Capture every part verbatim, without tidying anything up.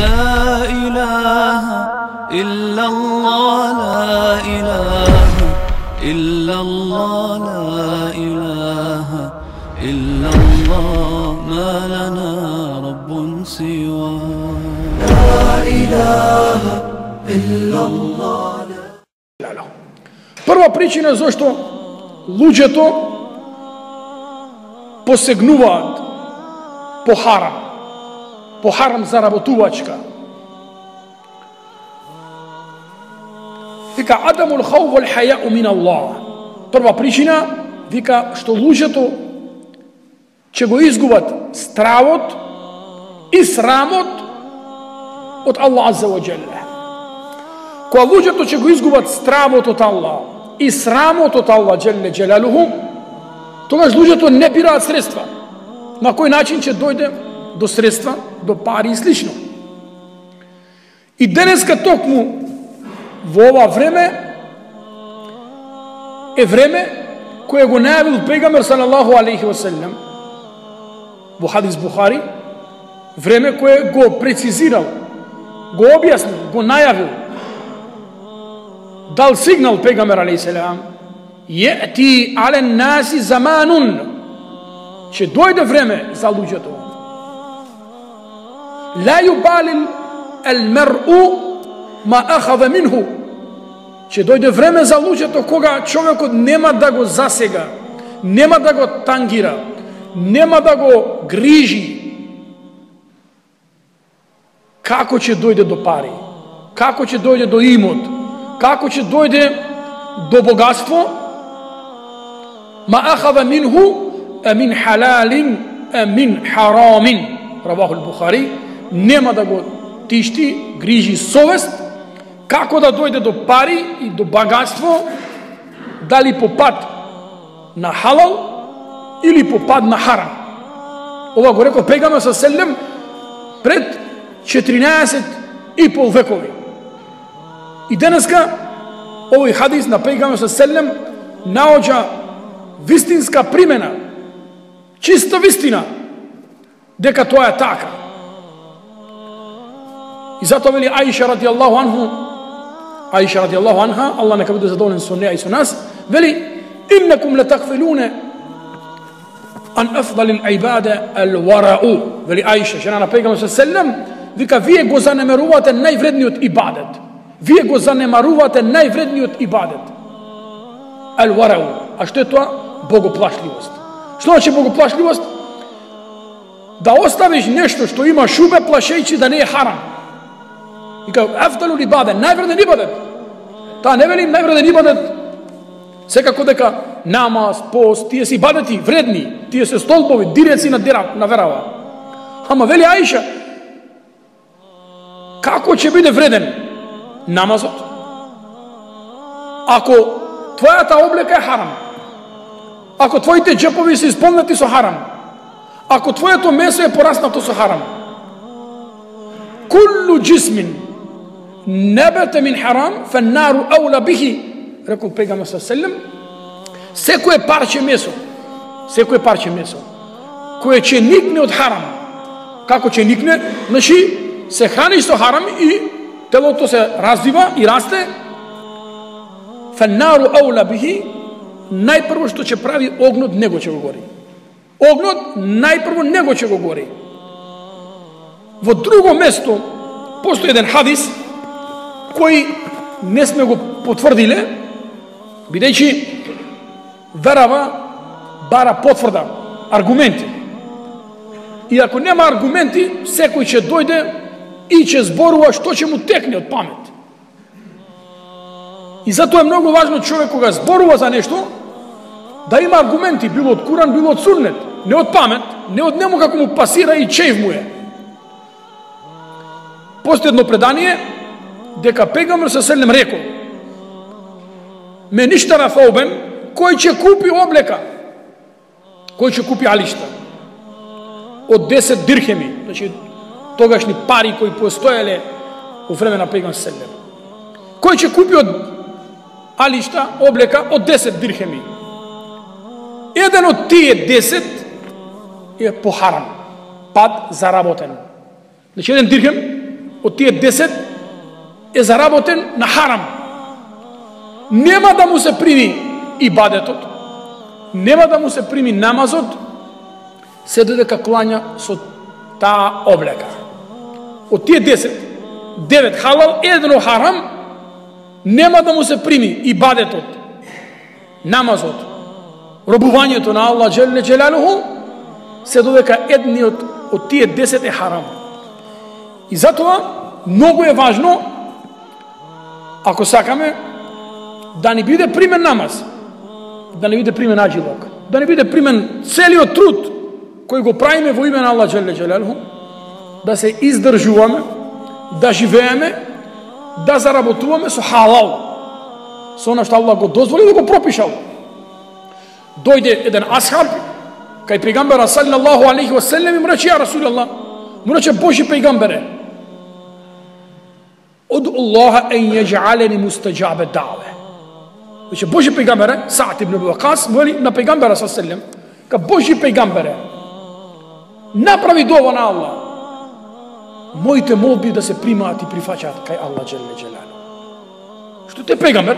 لا إله إلا الله لا إله إلا الله لا إله إلا الله ما لنا رب سواه لا إله إلا الله. Прва причина зашто луѓето посегнуваат по харам, по харам заработувачка. Вика адамул хауф вал хаяу мин Аллах. Прва причина вика што луѓето ќе го изгубат стравот и срамот од Аллах азза ва џелле. Кога луѓето ќе го изгубат стравот од Аллах и срамот од Аллах џелле џелалуху, тогаш луѓето не бираат средства. На кој начин ќе дојде до средства, до пари и слично. И денеска токму во ова време е време кое го најавил пегамбер салаллаху алейхи ва селлем во хадис Бухари, време кое го прецизирал, го објаснил, го најавил, дал сигнал пегамбер алейхи селам: јети ален наси заманун, ќе дојде време за луѓето. Ла јубалил ел мер'у ма ахаде минху, ќе дојде време за луѓето кога човекот нема да го засега, нема да го тангира, нема да го грижи како ќе дојде до пари, како ќе дојде до имот, како ќе дојде до богатство. Ма ахаде минху амин халалин амин харамин, равахул Бухари. Нема да го тишти, грижи совест, како да дојде до пари и до богатство, дали по пат на халал или по пат на харам. Ова го рекол пегамбер селем пред четиринаесет и пол векови. И денеска овој хадис на пегамбер селем наоѓа вистинска примена, чиста вистина дека тоа е така. И затоа вели Аиша радијаллаху анху, Аиша радијаллаху анха, Аллах нека биде задоволен со неа и со нас, вели: иннакум латакфилуна ан афдалил ибада ал варау. Вели Аиша, жена на пегамбер селем, вика: вие го занемарувате највредниот ибадет. Вие го занемарувате највредниот ибадет. Ал варау. А што е тоа? Богоплашливост. Што значи богоплашливост? Да оставиш нешто што има шубе, плашејќи да не е харам. И као афдалул ибадет, највреден ибадет. Таа не вели највреден ибадет секако дека намаз, пост, тие се ибадети вредни, тие се столбови, диреци на дера, на верава. Ама вели Аиша, како ќе биде вреден намазот ако твојата облека е харам, ако твоите џепови се исполнети со харам, ако твоето месо е пораснато со харам? Куллу джисмин набата мин харам фаннару аула бихи, рекол пегамбер селем. Секое парче месо, секое парче месо кое ќе никне од харам, како ќе никне? Значи се храниш со харам и телото се развива и расте. Фаннару аула бихи, најпрво што ќе прави огнот, него ќе го гори. Огнот најпрво него ќе го гори. Во друго место постои еден хадис кој не сме го потврдиле, бидејќи верава бара потврда, аргументи. И ако нема аргументи, секој ќе дојде и ќе зборува што ќе му текне од памет. И затоа е многу важно човек кога зборува за нешто да има аргументи, било од Куран, било од Суннет, не од памет, не од нему како му пасира и чеив му е. Постои едно предание дека пегамбер селем рекол: ме ништара фаубен, кој ќе купи облека, кој ќе купи алишта од десет дирхеми, значи тогашни пари кои постоеле во време на пегамбер селем. Кој ќе купи од алишта облека од десет дирхеми? Еден од тие десет е по харам, пат заработен. Значи еден дирхем од тие десет е заработен на харам. Нема да му се прими ибадетот, нема да му се прими намазот, се додека клања со таа облека. Од тие десет, девет халал, едно харам, нема да му се прими ибадетот, намазот, робувањето на Аллах Джелле Джелалуху, се додека едниот од тие десет е харам. И затоа многу е важно, ако сакаме да ни биде примен намаз, да не биде примен аджилок, да не биде примен целиот труд кој го правиме во име на Аллах Джелле Джелалуху, да се издржуваме, да живееме, да заработуваме со халал, со она што Аллах го дозволи да го пропишал. Дојде еден асхаб кај пејгамбера саллаллаху алейхи ва селлем и му рече: ја Расулаллах, му рече: Божи пејгамбере, од Аллаха ен једжалени мустаџабе даъве. Рече: Божи пејгамбере, Саъд ибн Аби Вакас вели на пејгамбера саллаллаху алейхи ва селлем, ка Божи пејгамбере, направи дова на Аллах, моите молби да се примаат и прифаќаат кај Аллах Джелле Джелалу. Што те пејгамбер,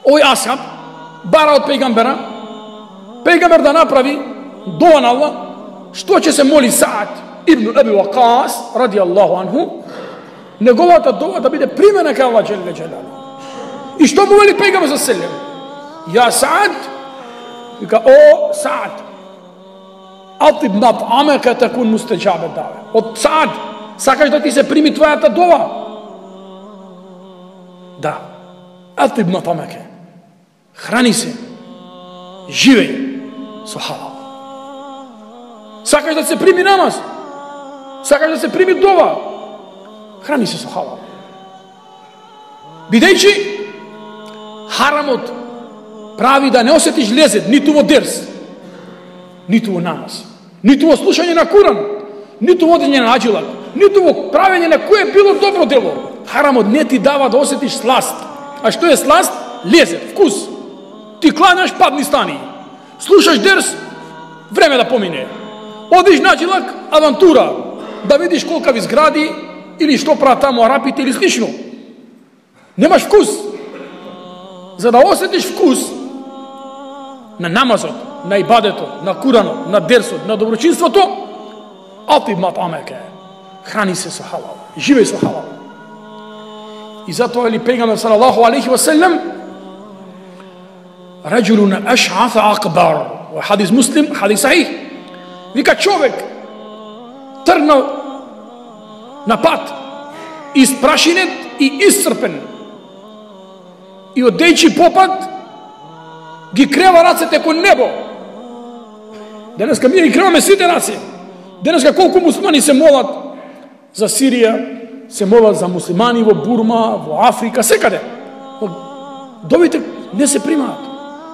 овој асхаб бара од пејгамбера, пејгамбер да направи дова на Аллах, што ќе се моли Саъд ибн Аби Вакас ради Аллаху анху, неговата дова да биде примена кај Аллах Джелле Джелалу. И што му вели пејгамбер саллаллаху алейхи ва селлем? Ја Саъд, вика: о Саъд, атиб мат'амека такун мустаџабе даъве. Од Саъд, сакаш да ти се прими твојата дова? Да. Атиб мат'амека. Храни се, живеј со халал. Сакаш да се прими намаз? Сакаш да се прими дова? Храни се со халал. Бидејќи харамот прави да не осетиш лезет ниту во дерс, ниту во намаз, ниту во слушање на Куран, ниту во одење на аджилак, ниту во правење на кое било добро дело. Харамот не ти дава да осетиш сласт. А што е сласт? Лезет, вкус. Ти кланяш, падни стани. Слушаш дерс, време да помине. Одиш на аджилак, авантура, да видиш колкави згради или што прават таму арапите или слично. Немаш вкус. За да осетиш вкус на намазот, на ибадетот, на Куранот, на дерсот, на доброчинството, атиб мат'амека. Храни се со халал, живеј со халал. И затоа ли пејгамбер салаллаху алейхи ва селлем, раџулун аш'аф акбар, во хадис Муслим, хадис сахих, вика човек тргнал на пат, испрашинет и исцрпен, и одејќи попат ги крева рацете кон небо. Денеска ние ги креваме сите раци. Денеска колку муслимани се молат за Сирија, се молат за муслимани во Бурма, во Африка, секаде. Довите не се примаат.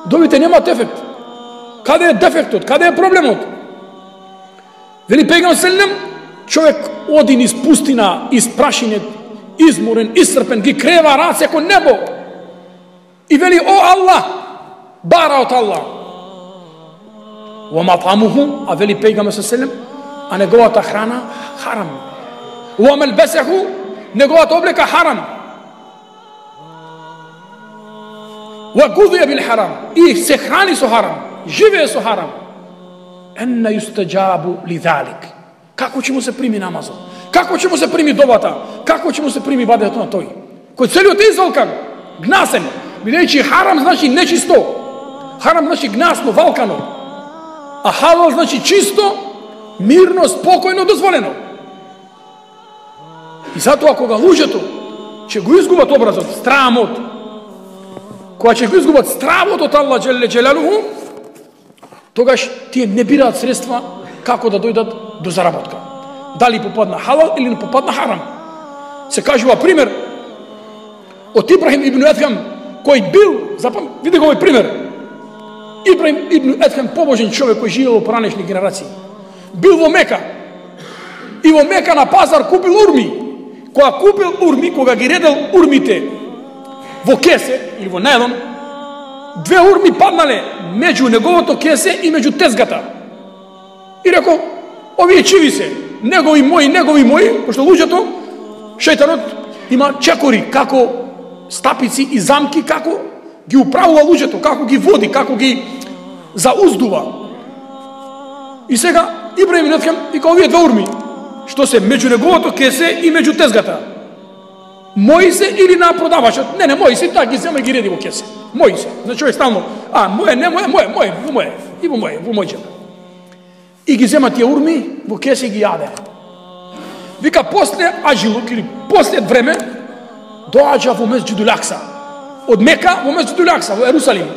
Довите немаат ефект. Каде е дефектот? Каде е проблемот? Вели пејгамбер селлем, човек оди низ пустина, испрашинет, изморен, исцрпен, ги крева раце кон небо. И вели: о Аллах, бара од Аллах. Ва мат'амуху, а вели пејгамбер селлем, а неговата храна харам. Ва малбасаху, неговата облека харам. Ва гудија бил харам, и се храни со харам, живее со харам. Енна юстаџабу ли залик. Како ќе му се прими намазот? Како ќе му се прими довата? Како ќе му се прими ибадетот на тој? Кој целиот е извалкан, гнасен, бидејќи харам значи нечисто. Харам значи гнасно, валкано. А халал значи чисто, мирно, спокојно, дозволено. И затоа кога луѓето ќе го изгубат образот, страмот, кога ќе го изгубат стравот од Аллах Джелле Джелалуху, тогаш тие не бираат средства како да дојдат до заработка. Дали попадна халал или не попадна харам. Се кажува пример од Ибрахим ибн Едхам, кој бил, запам, види го овој пример. Ибрахим ибн Едхам, побожен човек кој живеел во поранешни генерации, бил во Мека и во Мека на пазар купил урми. Кога купил урми, кога ги редел урмите во кесе или во најлон, две урми паднале меѓу неговото кесе и меѓу тезгата. И рекол: овие чиви се, негови мои, негови мои, пошто луѓето шејтанот има чекори, како стапици и замки, како ги управува луѓето, како ги води, како ги зауздува. И сега Ибраим Ветхем вика овие два урми, што се меѓу неговото кесе и меѓу тезгата. Мојсе или на продавачот? Не, не, Мојсе, така ги зема и ги реди во кесе. Мојсе. Значи човек стално, а, моје, не моје, моје, моје, во моје, и во моје, во мојчето. И ги зема тие урми во кесе и ги јаде. Вика, после ажилук или после време, доаѓа во Месџидул Акса. Од Мека во Месџидул Акса, во Ерусалим.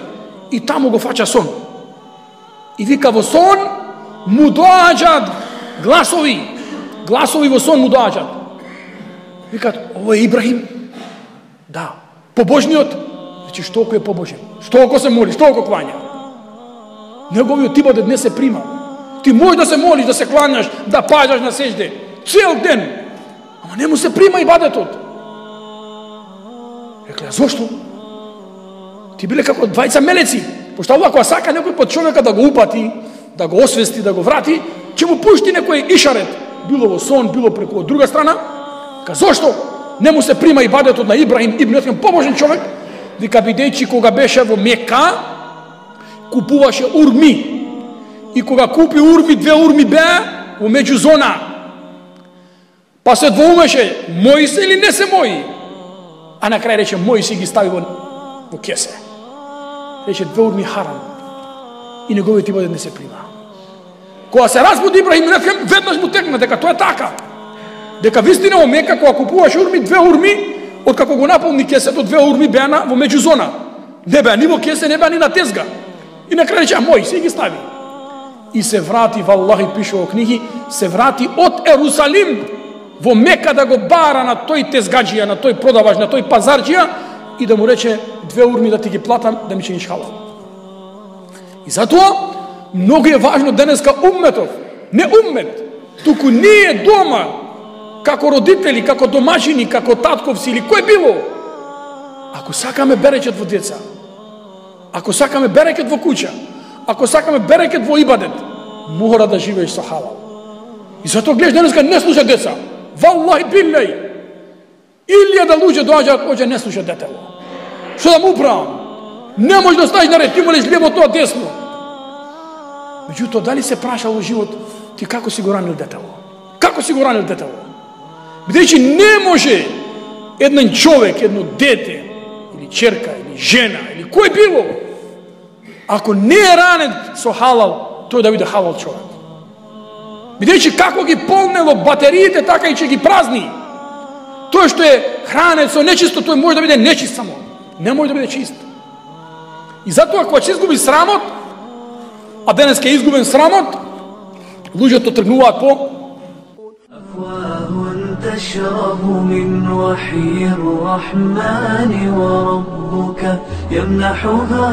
И таму го фаќа сон. И вика, во сон му доаѓаат гласови. Гласови во сон му доаѓаат. Викаат, ово е Ибрахим? Да. Побожниот? Значи, што ако е побожен? Што ако се моли? Што ако клања? Неговиот ибадет не се прима. Ти можеш да се молиш, да се клањаш, да паѓаш на сеќде. Цел ден. Ама не му се прима ибадетот. Рекле, зошто? Ти биле како двајца мелеци. Пошто ако сака некој под човека да го упати, да го освести, да го врати, ќе му пушти некој ишарет. Било во сон, било преку од друга страна. Ка зошто не му се прима ибадетот на Ибрахим ибн Етхем, побожен човек? Вика, бидејќи кога беше во Мека, купуваше урми. И кога купи урми, две урми беа во меѓузона. Па се двоумеше, мои се или не се мои? А на крај рече, мои си ги стави во, во кесе. Рече, две урми харам. И неговиот ибадет не се прима. Кога се разбуди Ибрахим ибн Етхем, веднаш му текна дека тоа е така. Дека вистина во Мека, кога купуваше урми, две урми, откако го наполни кесето, две урми беа во меѓузона. Не беа ни во кесе, не беа ни на тезга. И на крај рече, а мој си ги стави. И се врати, валлахи пише во книги, се врати од Ерусалим во Мека да го бара на тој тезгаджија, на тој продавач, на тој пазарџија и да му рече, две урми да ти ги платам, да ми чиниш халал. И затоа, многу е важно денеска умметов, не уммет, туку ние дома, како родители, како домашини, како татковци или кој било, ако сакаме берекет во деца, ако сакаме берекет во куќа, ако сакаме берекет во ибадет, мора да живееш со халал. И затоа гледаш денеска не слуша деца. Валлахи биллај. Илјада луѓе доаѓаат, оđe не слуша детело. Што да му управам? Не можеш да ставиш наред, ти молиш лево, тоа десно. Меѓутоа, дали се праша во живот, ти како си го ранил детело? Како си го ранил детело? Бидејќи не може еден човек, едно дете, или черка, или жена, или кој било, ако не е ранен со халал, тој да биде халал човек. Бидејќи како ги полнело батериите, така и ќе ги празни. Тој што е хранет со нечисто, тој може да биде нечист само. Не може да биде чист. И затоа, кога ќе изгуби срамот, а денес ке изгубен срамот, луѓето тргнуваат по تشرب من وحي الرحمن وربك يمنحها